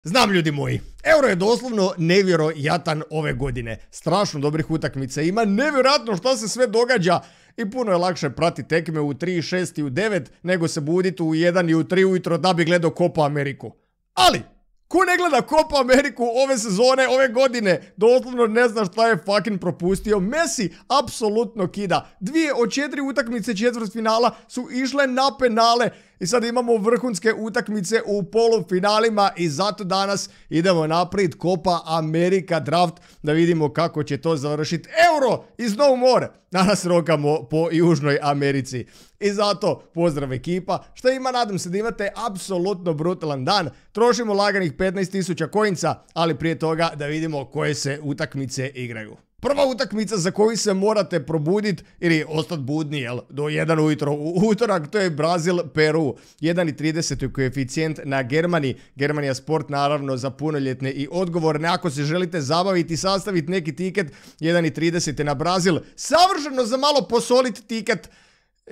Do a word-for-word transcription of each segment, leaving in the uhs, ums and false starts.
Znam ljudi moji, Euro je doslovno nevjerojatan ove godine. Strašno dobrih utakmica ima, nevjerojatno što se sve događa i puno je lakše prati tekme u tri, šest i u devet nego se buditi u jedan i u tri ujutro da bi gledao Copa Ameriku. Ali, ko ne gleda Copa Ameriku ove sezone, ove godine, doslovno ne zna šta je fucking propustio. Messi apsolutno kida. Dvije od četiri utakmice četvrtfinala su išle na penale i sad imamo vrhunske utakmice u polufinalima i zato danas idemo naprijed Copa America draft da vidimo kako će to završiti. Euro iz No More. Danas rokamo po Južnoj Americi. I zato pozdrav ekipa. Šta ima, nadam se da imate apsolutno brutalan dan. Trošimo laganih petnaest tisuća coinca, ali prije toga da vidimo koje se utakmice igraju. Prva utakmica za koju se morate probuditi ili ostati budni, jel, do jedan ujutro u utorak, to je Brazil-Peru. jedan i trideset je koeficijent na Germani. Germanija sport naravno za punoljetne i odgovorne. Ako se želite zabaviti i sastaviti neki tiket, jedan i trideset je na Brazil. Savršeno za malo posoliti tiket.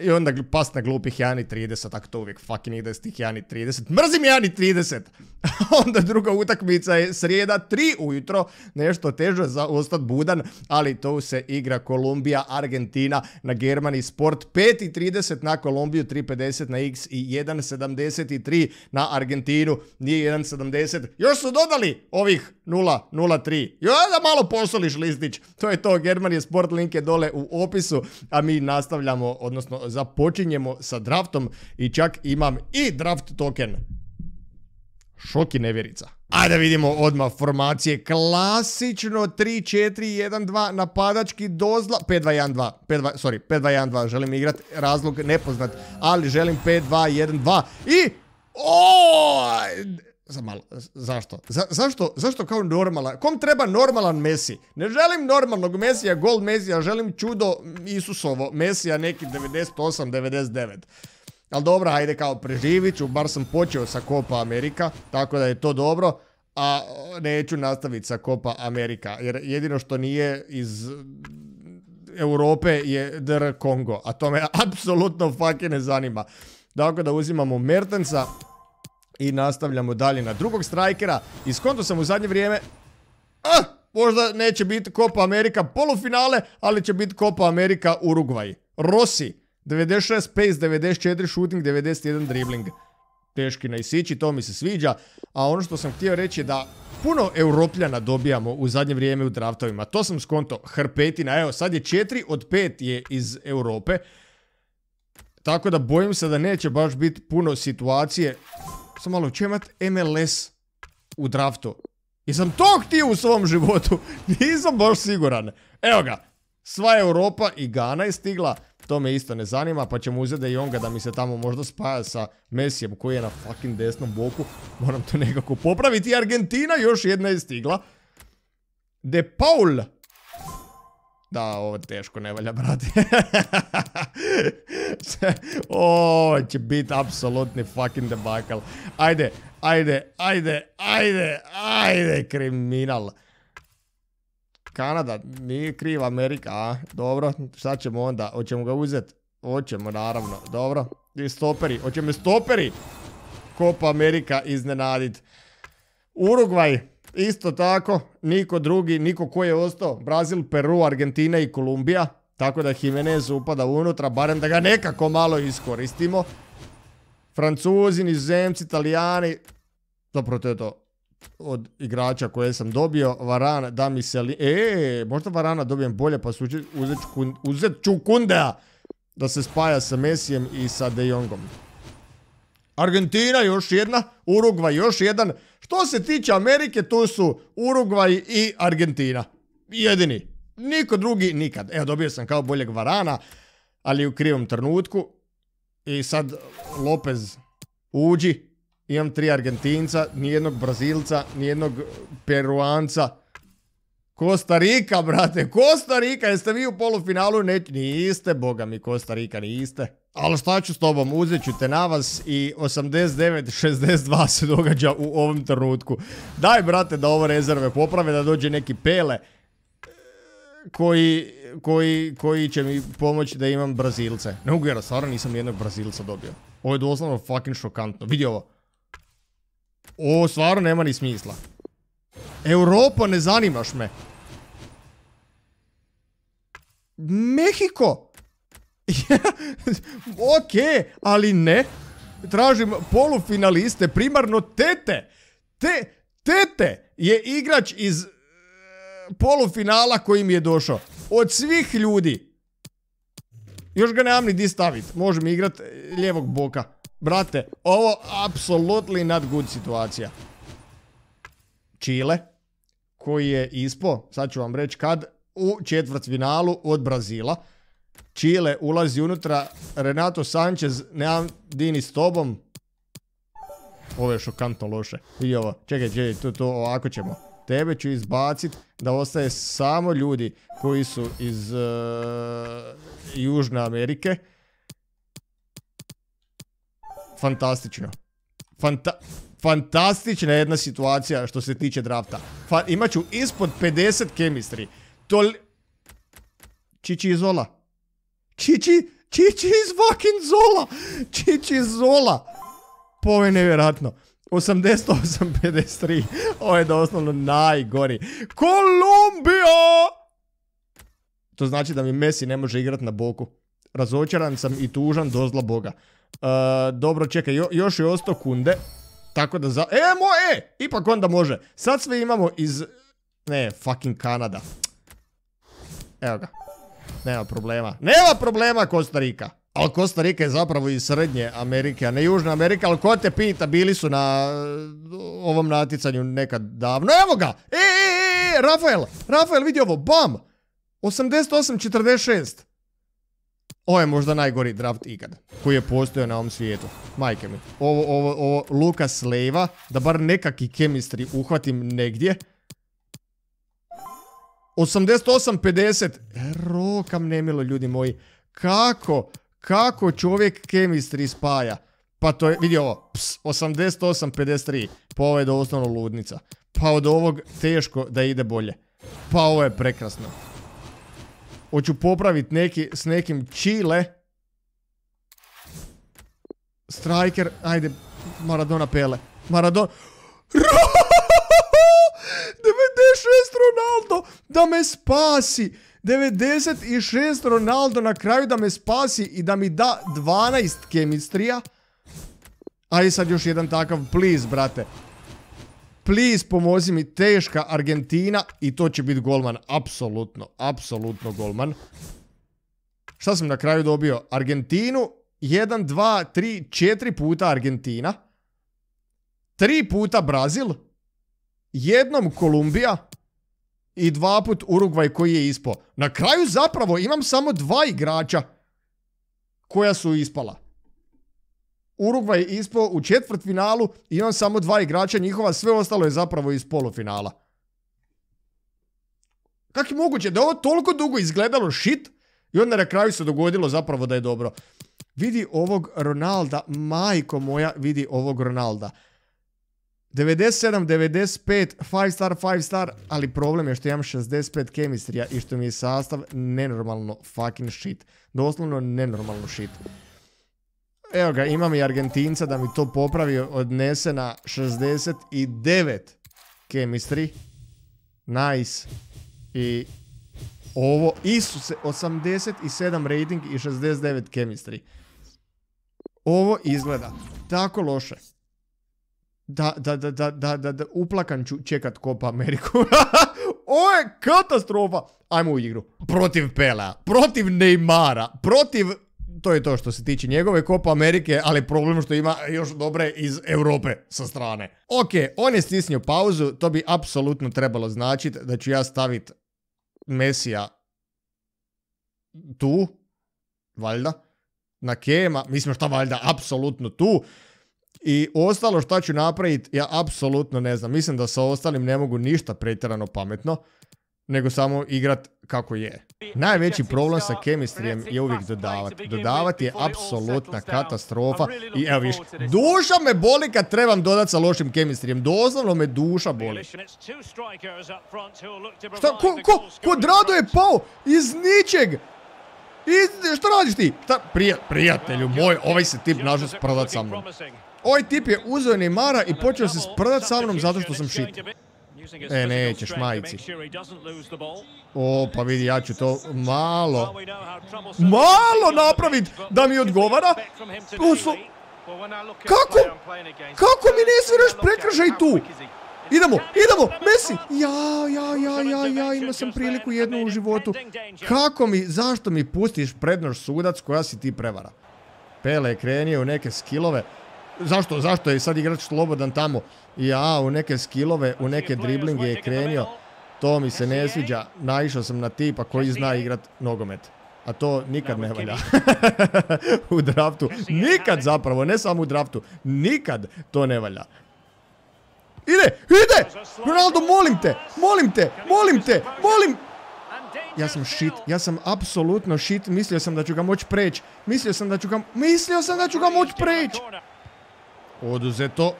I onda pas na glupih jedan i trideset, ako to uvijek fucking ide s tih jedan i trideset. Mrzim jedan i trideset! Onda druga utakmica je srijeda, tri ujutro, nešto teže za ostat budan, ali to se igra Kolumbija, Argentina na Germani Sport, pet i trideset na Kolumbiju, tri pedeset na X i jedan sedamdeset tri na Argentinu, nije jedan sedamdeset. Još su dodali ovih nula nula tri. Jo, da malo posoliš listić. To je to, Germani Sport, link je dole u opisu, a mi nastavljamo, odnosno započinjemo sa draftom i čak imam i draft token. Šok i nevjerica. Ajde vidimo odmah formacije. Klasično tri četiri jedan dva napadački dozla. pet dva jedan dva. Sorry, pet dva jedan dva. Želim igrati, razlog nepoznat, ali želim pet dva jedan dva. I... Oooo... Za malo, zašto? Za, zašto? Zašto kao normalan? Kom treba normalan Messi? Ne želim normalnog Messija, gol Messija, želim čudo Isusovo Messija neki devedeset osam devedeset devet. Ali dobro, ajde kao preživit ću, bar sam počeo sa Copa America, tako da je to dobro, a neću nastaviti sa Copa America, jer jedino što nije iz Europe je D R Kongo, a to me apsolutno fucking ne zanima. Dakle, da uzimamo Mertensa i nastavljamo dalje na drugog strajkera. Iskonto sam u zadnje vrijeme... Ah, možda neće biti Copa America polufinale, ali će biti Copa America Urugvaj. Rossi, devedeset šest pace, devedeset četiri shooting, devedeset jedan dribbling. Teški na isići, to mi se sviđa. A ono što sam htio reći je da puno Europljana dobijamo u zadnje vrijeme u draftovima. To sam skonto, hrpetina. Evo, sad je četiri od pet je iz Europe. Tako da bojim se da neće baš biti puno situacije. Sam malo, će imat M L S u draftu? Jesam to htio u svom životu? Nisam baš siguran. Evo ga, sva Europa i Gana je stigla. To me isto ne zanima, pa ćemo uzeti da i onga da mi se tamo možda spaja sa Messijem koji je na fucking desnom boku. Moram to nekako popraviti. Argentina još jedna je stigla. De Paul. Da, ovo teško ne valja, brate. Ovo će biti apsolutni fucking debakal. Ajde, ajde, ajde, ajde, ajde, kriminal. Kanada, nije kriva Amerika, a? Dobro, šta ćemo onda? Hoćemo ga uzeti? Hoćemo, naravno, dobro. I stoperi, hoćemo stoperi. Copa America iznenadit. Urugvaj. Isto tako, niko drugi, niko ko je ostao, Brazil, Peru, Argentina i Kolumbija, tako da Jimenez upada unutra, barem da ga nekako malo iskoristimo. Francuzi, Nizozemci, Italijani, zapravo to je to od igrača koje sam dobio. Varan, da mi se li... Eee, možda Varana dobijem bolje, pa uzet, uzet ću Kundea da se spaja sa Messijem i sa De Jongom. Argentina još jedna, Urugvaj još jedan. Što se tiče Amerike, tu su Urugvaj i Argentina. Jedini. Niko drugi nikad. Evo, dobio sam kao boljeg Varana, ali u krivom trenutku. I sad Lopez uđi. Imam tri Argentinca, nijednog Brazilca, nijednog Peruanca. Kosta Rika, brate, Kosta Rika, jeste vi u polufinalu? Ne, niste, boga mi, Kosta Rika, niste. Ali šta ću s tobom, uzet ću te na vas i osamdeset devet šezdeset dva se događa u ovom trenutku. Daj, brate, da ovo rezerve poprave, da dođe neki Pele koji, koji, koji će mi pomoći da imam Brazilce. Ne mogu jer, stvarno nisam nijednog Brazilca dobio. Ovo je doslovno fucking šokantno. Vidi ovo. Ovo stvarno nema ni smisla. Europa, ne zanimaš me. Mehiko. Ok, ali ne. Tražim polufinaliste, primarno Tete. Te, Tete je igrač iz uh, polufinala koji mi je došao. Od svih ljudi. Još ga nemam ni di stavit. Možem igrat lijevog boka. Brate, ovo apsolutely not good situacija. Chile, koji je ispo, sad ću vam reći kad, u četvrtfinalu od Brazila. Chile ulazi unutra, Renato Sanchez, nemam dini s tobom. Ovo je šokantno loše. I ovo, čekaj, čekaj, to, to ovako ćemo. Tebe ću izbacit da ostaje samo ljudi koji su iz uh, Južne Amerike. Fantastično. Fanta fantastična jedna situacija što se tiče drafta. Fa imaću ispod pedeset chemistry. Tol... Čiči iz Zola. Čiči, Čiči iz fucking Zola. Čiči iz Zola. Pa ovo je nevjerojatno. osamdeset osam pedeset tri. Ovo je doslovno najgori. Kolumbija! To znači da mi Messi ne može igrati na boku. Razočaran sam i tužan do zla Boga. Uh, dobro, čekaj, jo, još je ostao Kunde. Tako da za... E, mo, e! Ipak onda može. Sad sve imamo iz... Ne, fucking Kanada. Evo ga. Nema problema. Nema problema, Costa Rica. Ali Costa Rica je zapravo iz Srednje Amerike, a ne Južna Amerika. Ali ko te pita, bili su na ovom natjecanju nekad davno. Evo ga! E, e, e, Rafael! Rafael, vidi ovo, bam! osamdeset osam četrdeset šest. Ovo je možda najgori draft ikad koji je postojao na ovom svijetu. Majke mi. Ovo, ovo, ovo Lucas Leiva, da bar nekakvi chemistry uhvatim negdje. osamdeset osam pedeset. Rokam nemilo, ljudi moji. Kako, kako čovjek chemistry spaja? Pa to je, vidi ovo, ps, osamdeset osam pedeset tri. Pa ovo je doslovno ludnica. Pa od ovog teško da ide bolje. Pa ovo je prekrasno. Hoću popraviti neki, s nekim Chile. Striker, ajde, Maradona Pele. Maradona... devedeset šest Ronaldo, da me spasi. devedeset šest Ronaldo na kraju da me spasi i da mi da dvanaest chemistrija. Ajde sad još jedan takav, please, brate. Please, pomozi mi, teška Argentina i to će biti golman, apsolutno, apsolutno golman. Šta sam na kraju dobio? Argentinu, jedan, dva, tri, četiri puta Argentina, tri puta Brazil, jednom Kolumbija i dva put Urugvaj koji je ispao. Na kraju zapravo imam samo dva igrača koja su ispala. Urugvaj je ispao u četvrtfinalu i imam samo dva igrača njihova, sve ostalo je zapravo iz polufinala. Kako je moguće da je ovo toliko dugo izgledalo shit i onda na kraju se dogodilo zapravo da je dobro. Vidi ovog Ronalda, majko moja, vidi ovog Ronalda. devedeset sedam devedeset pet, pet star, pet star, ali problem je što imam šezdeset pet chemistrija i što mi je sastav nenormalno fucking shit. Doslovno nenormalno shit. Evo ga, imam i Argentinca da mi to popravi, odnese na šezdeset devet chemistry. Nice. I ovo, Isuse, osamdeset sedam rating i šezdeset devet chemistry. Ovo izgleda tako loše. Da, da, da, da, da, da, da, uplakan ću čekat Copa Ameriku. Ovo je katastrofa. Ajmo u igru. Protiv Pelea, protiv Neymara, protiv... To je to što se tiče njegove Copa Amerike, ali problem što ima još dobre iz Europe sa strane. Ok, on je stisnio pauzu, to bi apsolutno trebalo značiti da ću ja staviti Messija tu, valjda, na Kema, mislim šta valjda, apsolutno tu. I ostalo šta ću napraviti, ja apsolutno ne znam. Mislim da sa ostalim ne mogu ništa pretjerano pametno, nego samo igrat kako je. Najveći problem sa chemistryjem je uvijek dodavati. Dodavati je apsolutna katastrofa. I evo viš, duša me boli kad trebam dodati sa lošim chemistryjem. Doslovno me duša boli. Šta, ko, ko, Cuadrado je pao iz ničeg. Iz, šta radiš ti? Šta, prija, prijatelju moj, ovaj se tip nažalost prodat sa mnom. Ovaj tip je uzeo Neymara i počeo se sprdat sa mnom zato što sam shit. E, nećeš majici. O, pa vidi, ja ću to malo, malo napravit da mi odgovara. Oslo... Kako? Kako mi ne sviraš prekršaj tu? Idemo, idemo, Messi! Ja, ja, ja, ja, ja, imao sam priliku jednu u životu. Kako mi, zašto mi pustiš prednoš sudac koja si ti prevara? Pele je krenio u neke skillove. Zašto, zašto je sad igrač slobodan tamo? Ja, u neke skillove, u neke driblinge je krenio. To mi se ne sviđa. Naišao sam na tipa koji zna igrat nogomet. A to nikad ne valja. U draftu. Nikad zapravo, ne samo u draftu. Nikad to ne valja. Ide, ide! Ronaldo, molim te, molim te, molim te, molim... Ja sam shit, ja sam apsolutno shit. Mislio sam da ću ga moći preći. Mislio sam da ću ga... Mislio sam da ću ga moći preći! Oduzeto.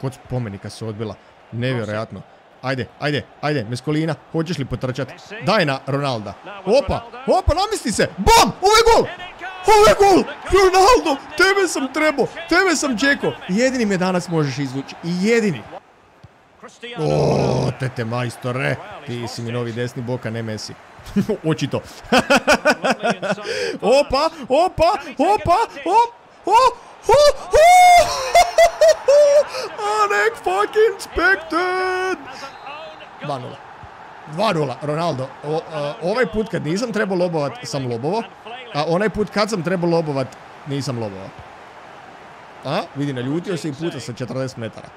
Kod spomenika se odbila. Nevjerojatno. Ajde, ajde, ajde, Meskolina, hoćeš li potrčat? Daj na Ronalda. Opa, opa, namisli se. Bam, ovo je gol! Ovo je gol! Ronaldo, tebe sam trebao, tebe sam čekao. Jedini me danas možeš izvući. Jedini. O, tete majstore. Ti si mi novi desni bok, a ne Messi. Očito. Opa, opa, opa, op, o, o, o. Unexpected! dva nula. dva nula, Ronaldo. O, uh, ovaj put kad nisam trebao lobovat, sam lobovo. A onaj put kad sam trebao lobovat, nisam lobovao. A, vidi, naljutio se i puta sa četrdeset metara.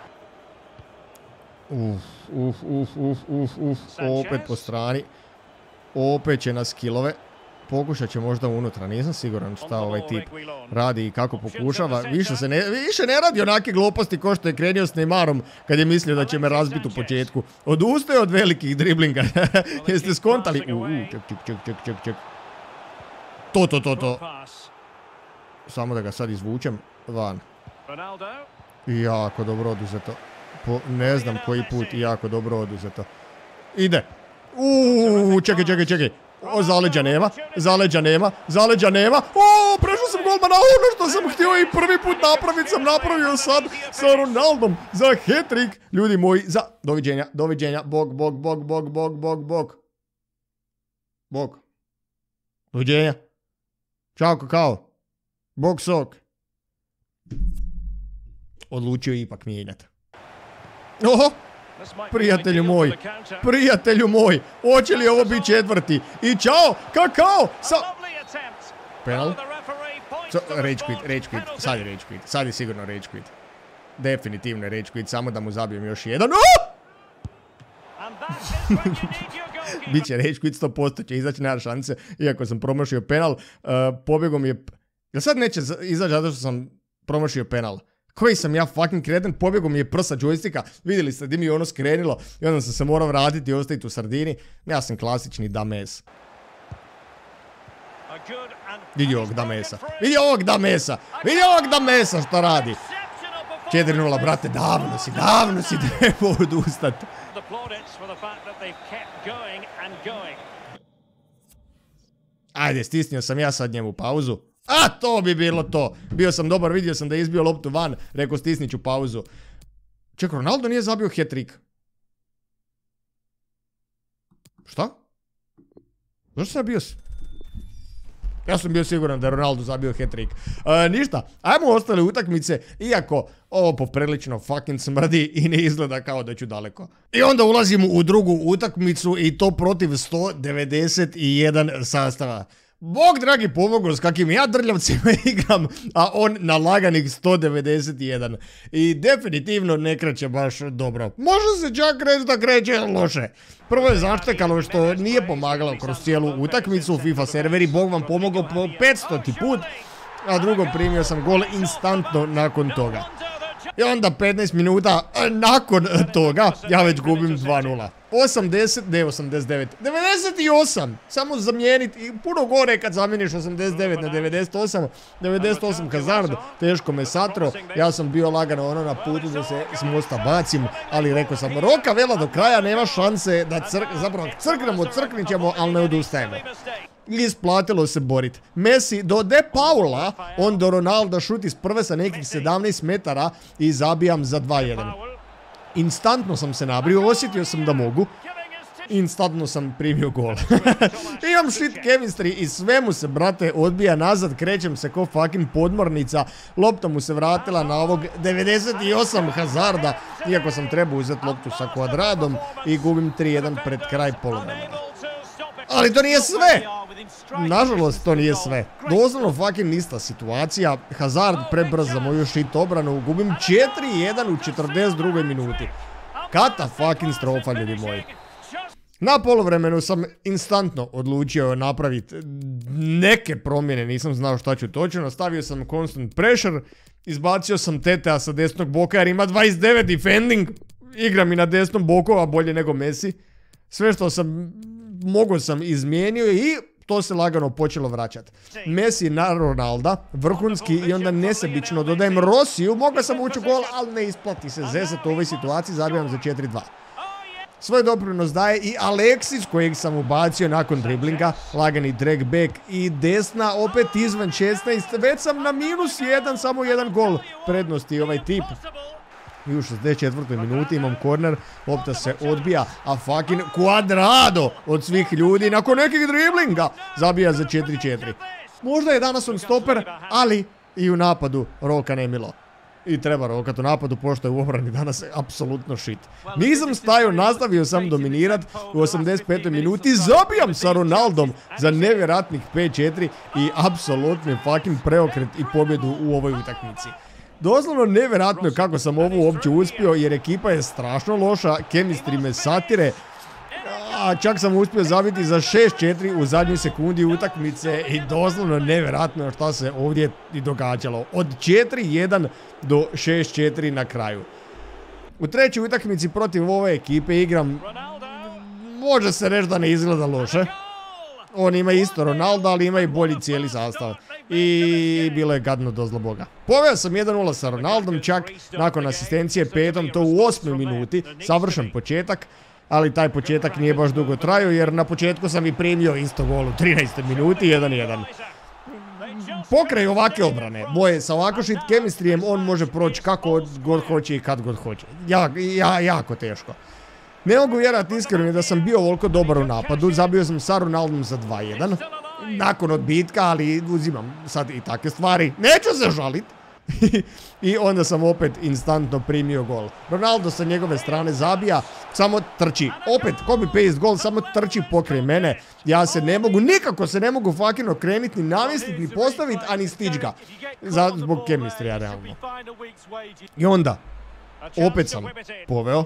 Uf, uf, uf, uf, uf, uf. Opet po strani. Opet će na skillove. Pokušat će možda unutra, nisam siguran šta ovaj tip radi i kako pokušava. Više se ne, više ne radi onake gluposti ko što je krenio s Neymarom kad je mislio da će me razbiti u početku. Odustaje od velikih driblinga. Jeste skontali? Uuu, ček, ček, ček, ček, ček, ček. To, to, to, to. Samo da ga sad izvučem van. Jako dobro oduzeto. Po ne znam koji put, jako dobro oduzeto. Ide. Uuu, čekaj, čekaj, čekaj. O, zaleđa nema, zaleđa nema, zaleđa nema. O, prešao sam golmana, ono što sam htio i prvi put napraviti sam napravio sad sa Ronaldom za hat-trick. Ljudi moji, za... Doviđenja, doviđenja, bog, bog, bog, bog, bog, bog, bog. Bog. Doviđenja. Ćao, kakao. Bog sok. Odlučio ipak mijenjati. Oho. Prijatelju moj, prijatelju moj, hoće li ovo biti četvrti? I čao, kakao, sa... Penal? So, rage quit, rage quit, sad je rage quit, sad je sigurno rage quit. Definitivno je rage quit, samo da mu zabijem još jedan. Biće rage quit, sto posto će izaći, nema šanse, iako sam promašio penal. Uh, pobjegom je... Jel sad neće izaći zato što sam promašio penal? Koji sam ja fucking kreden, pobjegao mi je prsa džojstika, vidjeli ste di mi je ono skrenilo i onda sam se morao vratiti i ostaviti u sardini. Ja sam klasični dames. Vidi ovog damesa, vidi ovog damesa, vidi ovog damesa što radi. četiri nula, brate, davno si, davno si trebao odustati. Ajde, stisnio sam ja sad njemu pauzu. A, to bi bilo to. Bio sam dobar, vidio sam da je izbio loptu van. Rekao, stisnit ću pauzu. Ček, Ronaldo nije zabio hat-trick. Šta? Zašto sam bio... Ja sam bio siguran da je Ronaldo zabio hat-trick. E, ništa, ajmo ostale utakmice, iako ovo poprilično fucking smrdi i ne izgleda kao da ću daleko. I onda ulazimo u drugu utakmicu i to protiv sto devedeset jedan sastava. Bog dragi pomogao s kakvim ja drljavcima igram, a on na laganih sto devedeset jedan. I definitivno ne kreće baš dobro. Može se čak reći da kreće loše. Prvo je zaštekalo što nije pomagalo kroz cijelu utakmicu, FIFA serveri, Bog vam pomogao po petstoti put, a drugo primio sam gol instantno nakon toga. I onda petnaest minuta nakon toga ja već gubim dva nula. osamdeset, ne osamdeset devet, devedeset osam. Samo zamijeniti, i puno gore kad zamijeniš osamdeset devet na devedeset osam. devedeset osam Hazard, teško me satro. Ja sam bio lagano ono na putu da se s mosta bacim, ali rekao sam roka vela do kraja, nema šanse da crk, zapravo crknemo, crknit ćemo, ali ne odustajemo. Isplatilo se borit. Messi do De Paula, on do Ronalda šut iz prve sa nekih sedamnaest metara i zabijam za dva jedan. Instantno sam se nabrio, osjetio sam da mogu. Instantno sam primio gol. Imam shit chemistry i sve mu se, brate, odbija nazad, krećem se ko fucking podmornica, lopta mu se vratila na ovog devedeset osam Hazarda, iako sam trebao uzeti loptu sa Kvadradom i gubim tri jedan pred kraj poluvremena. Ali to nije sve! Nažalost, to nije sve. Doslovno fucking ista situacija. Hazard prebrz za moju shit obranu. Gubim četiri jedan u četrdeset drugoj minuti. Kata fucking strofa, ljudi moji. Na poluvremenu sam instantno odlučio napraviti neke promjene, nisam znao šta ću točno. Nastavio sam constant pressure, izbacio sam Tetea sa desnog boka jer ima dvadeset devet defending. Igra mi na desnom boku, a bolje nego Messi. Sve što sam mogao sam izmijenio i to se lagano počelo vraćati. Messi na Ronalda, vrhunski i onda nesebično dodajem Rosiju, mogao sam ući u gol, ali ne isplati se zezat u ovoj situaciji, zabijam za četiri dva. Svoj doprinos daje i Alexis kojeg sam ubacio nakon driblinga, lagani drag back i desna opet izvan šesnaest, već sam na minus jedan, samo jedan gol prednosti ovaj tip. I u šezdeset četvrtoj minuti imam korner, lopta se odbija, a fucking Cuadrado od svih ljudi nakon nekih driblinga zabija za četiri četiri. Možda je danas on stoper, ali i u napadu roka nemilo. I treba rokat u napadu, pošto je u obrani danas apsolutno shit. Nisam stajao, nastavio sam dominirat u osamdeset petoj minuti, zabijam sa Ronaldom za nevjerojatnih pet četiri i apsolutni fucking preokret i pobjedu u ovoj utakmici. Doslovno nevjerojatno je kako sam ovo uopće uspio, jer ekipa je strašno loša, chemistry me satire, a čak sam uspio zabiti za šest četiri u zadnjoj sekundi utakmice i doslovno nevjerojatno šta se ovdje i događalo. Od četiri jedan do šest četiri na kraju. U trećoj utakmici protiv ove ekipe igram, može se reći da ne izgleda loše. On ima isto Ronaldo, ali ima i bolji cijeli sastav. I bilo je gadno do zla boga. Poveo sam jedan nula sa Ronaldom, čak nakon asistencije petom, to u osmoj minuti, savršen početak. Ali taj početak nije baš dugo trajao, jer na početku sam i primio isto gol u trinaestoj minuti, jedan jedan. Pokraj ovake obrane, boje sa ovako shit chemistryjem, on može proći kako god hoće i kad god hoće. Ja, ja, jako teško. Ne mogu vjerati iskreno da sam bio ovoliko dobar u napadu, zabio sam sa Ronaldom za dva jedan. Nakon odbitka, ali uzimam sad i takve stvari. Neću se žalit. I onda sam opet instantno primio gol. Ronaldo sa njegove strane zabija, samo trči. Opet copy paste gol, samo trči pokraj mene. Ja se ne mogu, nikako se ne mogu fucking okreniti, ni namjestiti, ni postaviti, a ni stić ga. Zbog chemistry, realno. I onda, opet sam poveo.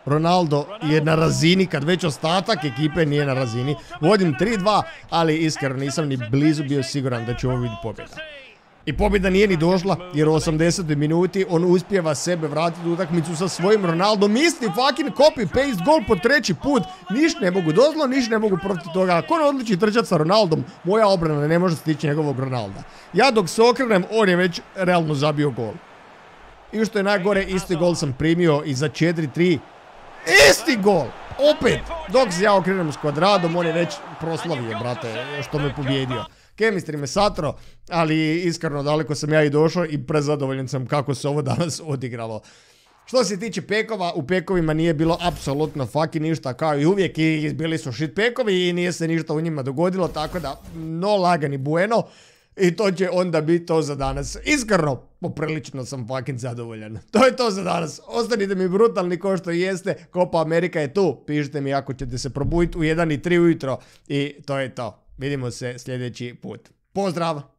Ronaldo je na razini, kad već ostatak ekipe nije na razini. Vodim tri dva, ali iskreno nisam ni blizu bio siguran da će ovo biti pobjeda. I pobjeda nije ni došla, jer u osamdesetoj minuti on uspijeva sebe vratiti u utakmicu sa svojim Ronaldom. Isti fucking copy-paste gol po treći put. Niš ne mogu dozlo, niš ne mogu protiv toga. Ako on odliči trčati sa Ronaldom, moja obrana ne može stići njegovog Ronalda. Ja dok se okrenem, on je već realno zabio gol. I što je najgore, isti gol sam primio i za četiri tri. Isti gol! Opet! Dok se ja okrenem s Kvadradom, on je već proslavio, brate, što me pobjedio. Chemistry me satro, ali iskreno daleko sam ja i došao i prezadovoljan sam kako se ovo danas odigralo. Što se tiče pekova, u pekovima nije bilo apsolutno fucking ništa, kao i uvijek, i bili su shit pekovi i nije se ništa u njima dogodilo, tako da no lagani bueno. I to će onda biti to za danas. Iskreno, poprilično sam fucking zadovoljan. To je to za danas. Ostanite mi brutalni ko što jeste. Copa America je tu. Pišite mi ako ćete se probuditi u jedan i tri ujutro. I to je to. Vidimo se sljedeći put. Pozdrav!